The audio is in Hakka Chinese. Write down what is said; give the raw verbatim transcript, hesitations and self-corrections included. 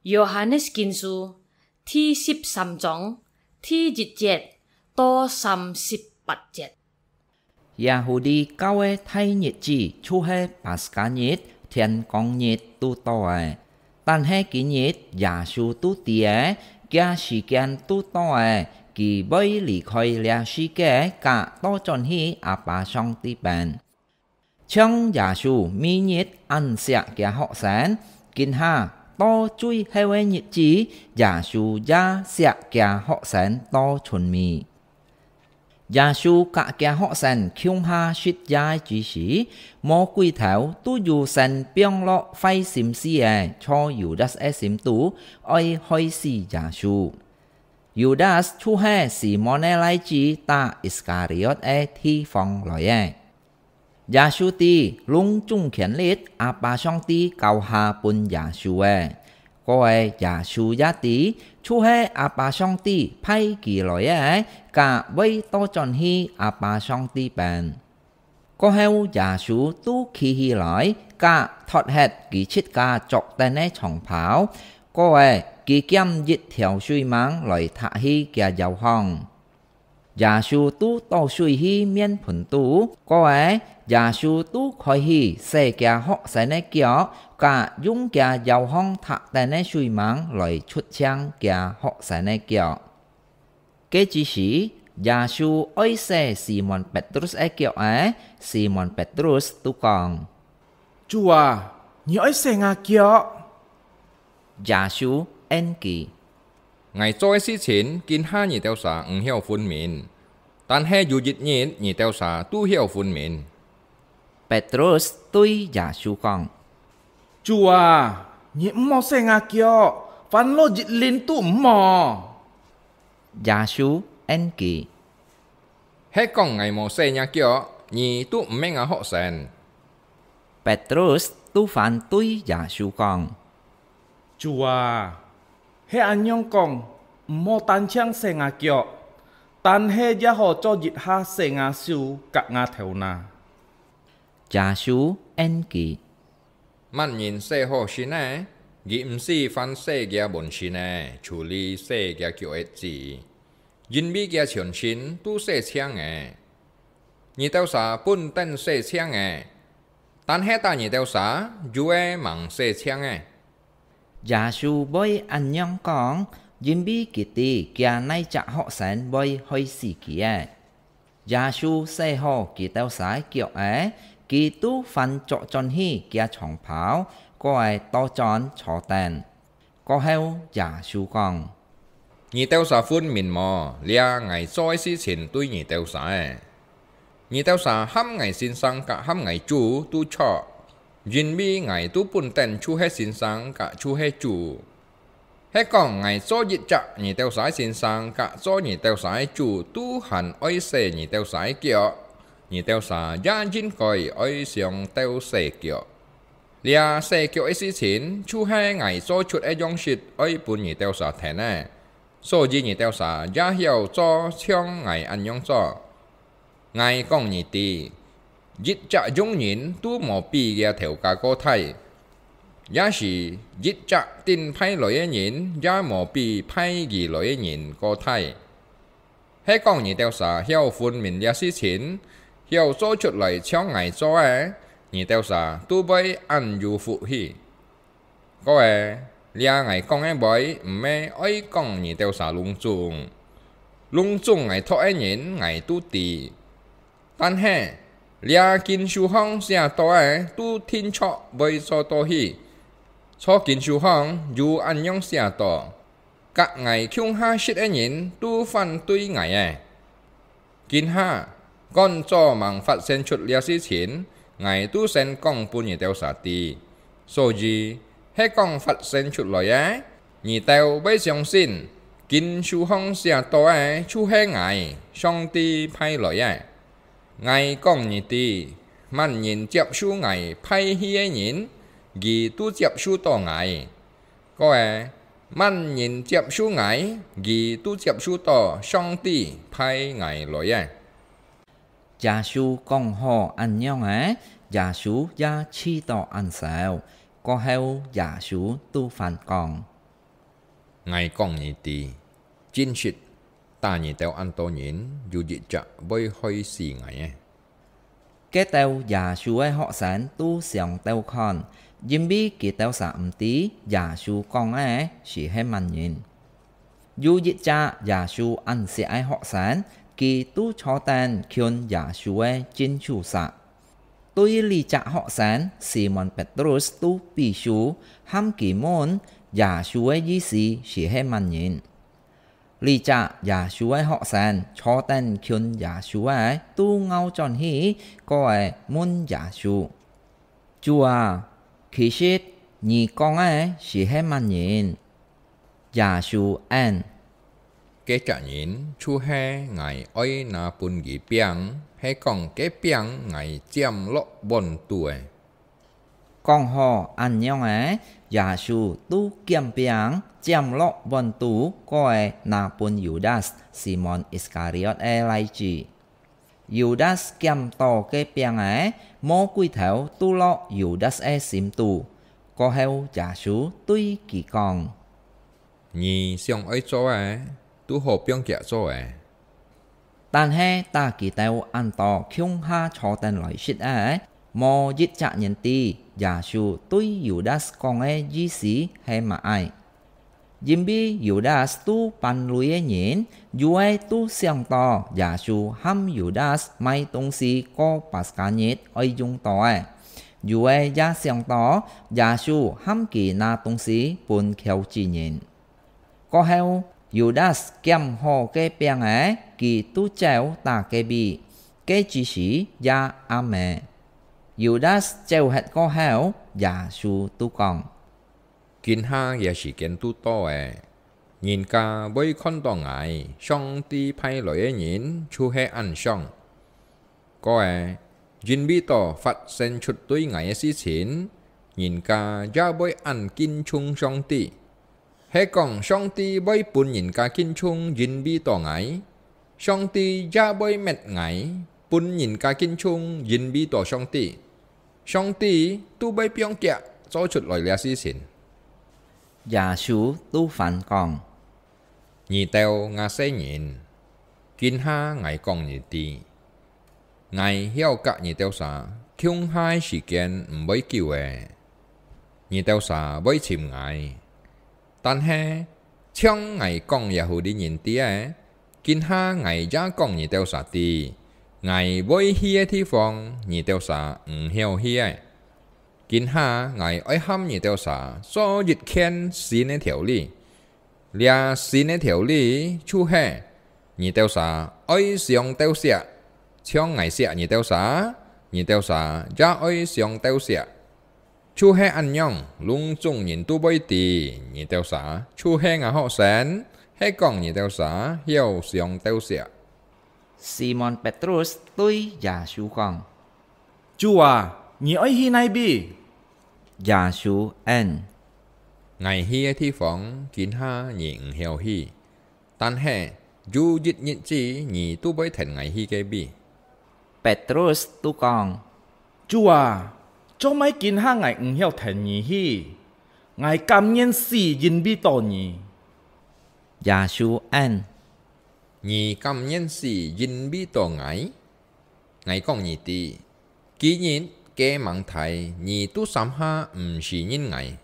Yohanes Kinsu第十三章第一節到三十八節。 Yahudi Kao个大日子就係Paskha日，天光日都到了。但係今日耶穌都知个，厥時間都到了，佢會離開這世界，甲倒轉去阿爸上帝邊。像耶穌每日恁惜厥學生，今下到最後个日子，耶穌也惜厥學生到盡尾。 耶穌甲厥學生共下食夜个之時，魔鬼頭都有先放落壞心思个，在Yudas个心肚，愛害死耶穌。Yudas就係西門个倈子打Iskariot个地方來个。 耶穌知攏總權力阿爸上帝交下分耶穌个，故个耶穌也知，就係阿爸上帝派佢來个，甲會倒轉去阿爸上帝邊。過後耶穌都企起來，甲脫忒佢自家著等个長袍，過个佢撿一條水吂來糴去厥腰項。 耶穌都倒水去面盆肚，過个耶穌都開始洗厥學生个腳，甲用厥腰項糴等个水吂來捽淨厥學生个腳。該之時，耶穌愛洗西門Petrus个腳仔，西門Petrus都講：「主啊，你愛洗吾腳？」耶穌應佢： 「𠊎做个事情，今下你兜儕毋曉分明，但係有一日你兜儕都曉分明。」Petrus對耶穌講：「主啊，你毋好洗吾腳，翻落一輪都毋好。」耶穌應佢： 係講𠊎無洗若腳，你都毋係吾學生。」Petrus都還對耶穌講：「主啊，係恁樣講，毋好單淨洗吾腳，但係也好做一下洗吾手甲吾頭那。」耶穌應佢： 「麼人洗好身呢？佢毋使還洗厥滿身呢，除了洗厥腳仔子，因為厥全身都洗淨了。你兜儕本等洗淨了，但係打你兜儕，有个吂洗淨呢。」耶穌會恁樣講，因為佢知厥哪隻學生會害死佢个。 耶穌洗好佢兜儕个腳仔，佢都還著轉去厥長袍，過个倒轉坐等。過後耶穌講：「你兜儕分明無？這𠊎做个事情對你兜儕个。你兜儕喊𠊎先生甲喊𠊎主都著，因為𠊎都本等就係先生甲就係主。 係講𠊎做一隻你兜儕个先生甲做你兜儕个主，都還愛洗你兜儕个腳，你兜儕也應該愛相鬥洗腳。這洗腳个事情，就係𠊎做出个樣式，愛分你兜儕跈个，所以你兜儕也曉做像𠊎恁樣做。 𠊎講你知，一隻用人都無比厥頭家過大，也係一隻等派來个人也無比派佢來个人過大。係講你兜儕曉分明這事情，曉做出來像𠊎做个，你兜儕都會恁有福氣。 過个，這𠊎講个話，毋係愛講你兜儕攏總。攏總𠊎託个人，𠊎都知。但係，這經書項寫到个，都定著會做到去。照經書項有恁樣寫到：甲𠊎共下食个人，都反對𠊎个。 今下，趕早吂發生出這事情，𠊎都先講分你兜儕知。所以，係講發生出來个，你兜會相信，經書項寫到个就係𠊎，上帝派來个。𠊎講你知，麼人接受𠊎派去个人，佢都接受到𠊎。 過个，麼人接受𠊎，佢都接受到上帝派𠊎來个。耶穌講好恁樣仔，耶穌也試到恁愁。過後，耶穌都還講： 𠊎講你知，真實，打你兜恁多人，有一隻會害死𠊎个。該兜耶穌个學生都想兜看，因為佢兜儕毋知耶穌講个係係麼人。有一隻耶穌恁惜个學生，佢都坐等近耶穌个正手儕。對這隻學生，Simon Petrus都比手，喊佢問耶穌个意思係係麼人。這隻耶穌个學生坐等近耶穌个，都拗轉去，過仔問耶穌：「主啊，其實你講个係係麼人？」耶穌應：「該隻人就係𠊎愛拿分佢餅，係講該餅𠊎佔落碗肚个。」講好恁樣仔，耶穌都撿餅，佔落碗肚，過仔拿分Yudas，Simon Iskariot个倈子。Yudas撿著該餅仔，魔鬼頭都落Yudas个心肚。過後耶穌對佢講：「你想愛做个，都好放厥做仔。」但係打佢兜恁多共下坐等來食个，無一隻人知耶穌對Yudas講个意思係麼个。因為Yudas都扮鐳个人，有个都想著耶穌喊Yudas買東西過Paskah日愛用到个，有个也想著耶穌喊佢拿東西分虯子人。 過後，Yudas撿好該餅仔，佢都走打該位，該子時也暗仔。Yudas走忒過後，耶穌都講：「今下這時間都到仔，人家會看著𠊎，上帝派來个人就係恁像。」 過仔，因為到發生出對𠊎个事情，人家也會恁敬重上帝。係講上帝會分人家敬重，因為到𠊎，上帝也會滅𠊎，分人家敬重，因為到上帝。上帝都會放厥做出來這事情。耶穌都還講： 「你兜亞細人，今下𠊎講你知，𠊎曉甲你兜儕共下个時間毋會久仔，你兜儕會尋𠊎。但係，像𠊎講這戶人知仔，今下𠊎也講你兜儕知，𠊎會去个地方，你兜儕毋曉去仔。今下𠊎愛喊你兜儕做一件新个條例， 這新个條例就係，你兜儕愛相鬥惜，像𠊎惜你兜儕，你兜儕也愛相鬥惜。就係恁樣，攏總人都會知，你兜儕就係吾學生，係講你兜儕曉相鬥惜。」 Simon Petrus對耶穌講：「主啊，你愛去哪位？」耶穌應：「𠊎去个地方，今下你毋曉去，但係有一日子你都會跈𠊎去該位。」Petrus都講：「主啊，做麼今下𠊎毋曉跈你去？𠊎甘願死因為著你。」耶穌應： 「你甘願死因為著𠊎？𠊎講你知，今日該吂忒你都三下毋承認𠊎。」